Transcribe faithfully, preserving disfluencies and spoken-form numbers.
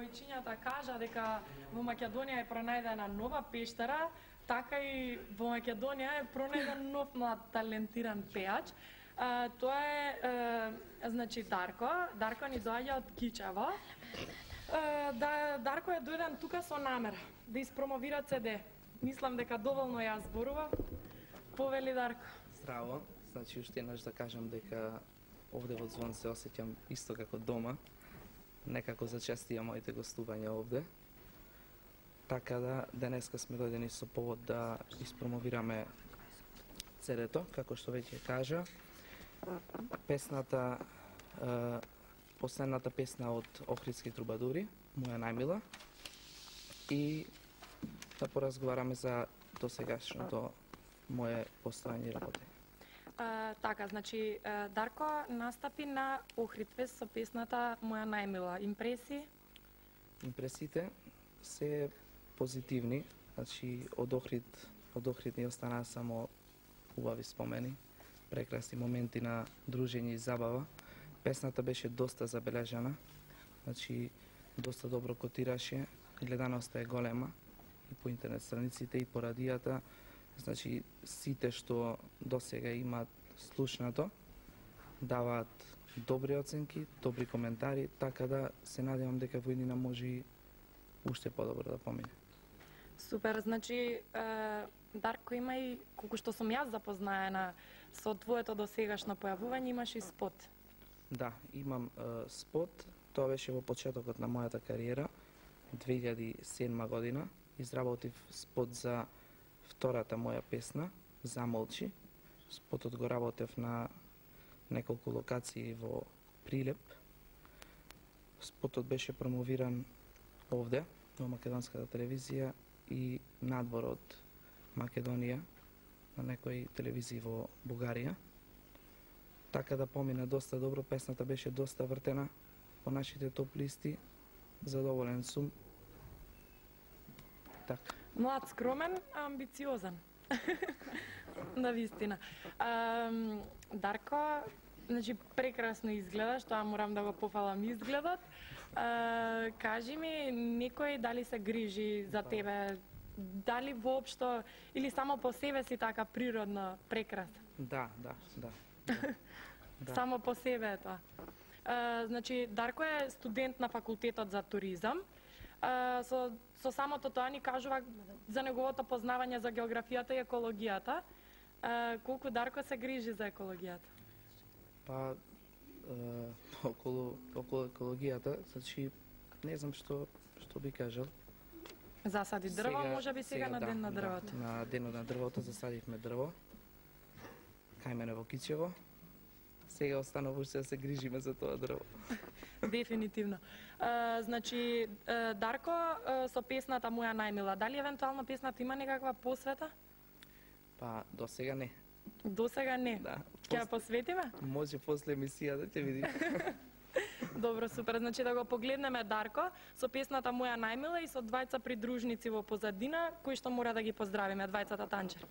девојчињата кажа дека во Македонија е пронајдена нова пештера, така и во Македонија е пронајден нов млад талентиран пеач. А, тоа е, е значи Дарко. Дарко ни доаѓа од Кичево. А, да, Дарко е дојден тука со намера да испромовира Це Де. Мислам дека доволно ја зборува. Повели Дарко. Здраво. Значи уште еднаш да кажам дека овде во Звон се осеќам исто како дома. Некако зачестија моите гостувања овде. Така да денеска сме дојдени со повод да испромовираме цедето, како што веќе кажа. Песната, е, последната песна од Охридски трубадури, моја најмила, и да поразговараме за досегашното мое постојање и работење. А, така, значи, Дарко настапи на Охридфест со песната Моја најмила. Импресии? Импресиите се позитивни, значи од Охрид, од Охрид ни останаа само убави спомени, прекрасни моменти на дружење и забава. Песната беше доста забележана, значи доста добро котираше, гледаноста е голема и по интернет страниците и по радијата. Значи сите што досега имаат слушнато даваат добри оценки, добри коментари, така да се надевам дека во иднина може и уште подобро да помине. Супер, значи е, Дарко има и, колку што сум јас запознаена со твоето досегашно појавување, имаш и спот. Да, имам е, спот, тоа беше во почетокот на мојата кариера, две илјади и седма година, изработив спот за втората моја песна, Замолчи. Спотот го работев на неколку локации во Прилеп. Спотот беше промовиран овде, во македонската телевизија и надвор од Македонија, на некои телевизии во Бугарија. Така да помина доста добро, песната беше доста вртена по нашите топ листи, задоволен сум. Така. Млад, скромен, амбициозен. На вистина. А, Дарко, значи прекрасно изгледаш, тоа морам да го пофалам изгледот. А, кажи ми, некој дали се грижи за тебе? Дали воопшто или само по себе си така природно прекрасен? Да, да, да. да. да. Само по себе е тоа. А, значи, Дарко е студент на факултетот за туризам. А, со, со самото тоа ни кажува за неговото познавање за географијата и екологијата. А, колку Дарко се грижи за екологијата? Па, е, околу, околу екологијата, значи, не знам што, што би кажал. Засади дрво, може би сега, сега на да, ден на дрвото. Да, на денот на дрвото засадивме дрво. Кај мене во Кичево. Сега останува уште да се грижиме за тоа дрво. Дефинитивно. А, значи, Дарко со песната Моја најмила, дали евентуално песната има некаква посвета? Па, до сега не. До сега не? Да. Ќе ја посветиме? Може после емисијата, ќе видиме. Добро, супер. Значи да го погледнеме Дарко со песната Моја најмила и со двајца придружници во позадина, кои што мора да ги поздравиме, двајцата танчери.